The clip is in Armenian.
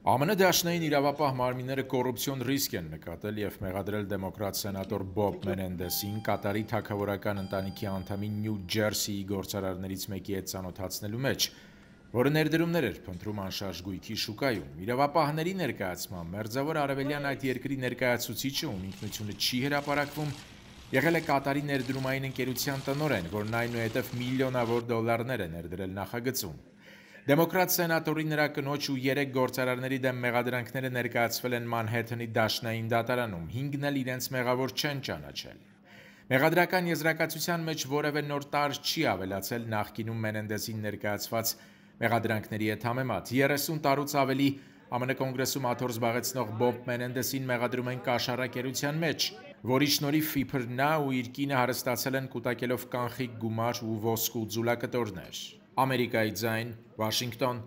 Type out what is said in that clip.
ԱՄՆ դաշնային իրավապահ մարմինները կոռուպցիոն ռիսկ են նկատել և մեղադրել դեմոկրատ սենատոր Բոբ Մենենդեսին Կատարի թագավորական ընտանիքի անդամի Նյու Ջերսիի գործարարներից մեկի հետ ծանոթացնելու մեջ, որը ներդրումներ էր փնտրում անշարժ գույքի շուկայում։ Իրավապահների ներկայացմամբ Մերձավոր Արևելյան այդ երկրի ներկայացուցիչը, ում ինքնությունը չի հրապարակվում, եղել է Կատարի ներդրումային ընկերության տնօրեն, որն այնուհետև միլիոնավոր դոլարներ է ներդրել նախագծում։ Դեմոկրատ սենատորի, նրա կնոջ ու 3 գործարարների դեմ մեղադրանքները ներկայացվել են Մանհեթենի դաշնային դատարանում, 5-ն էլ իրենց մեղավոր չեն ճանաչել։ Մեղադրական եզրակացության մեջ որևէ նոր տարր չի ավելացել նախկինում Մենենդեսին ներկայացված մեղադրանքների հետ համեմատ։ 30 տարուց ավելի ԱՄՆ կոնգրեսում աթոռ զբաղեցնող Բոբ Մենենդեսին մեղադրում են կաշառակերության մեջ, որի շնորհիվ իբր նա ու իր կինը հարստացել են կուտակելով կանխիկ գումար ու ոսկու ձուլակտորներ։ Ամերիկայի ձայն, Վաշինգտոն։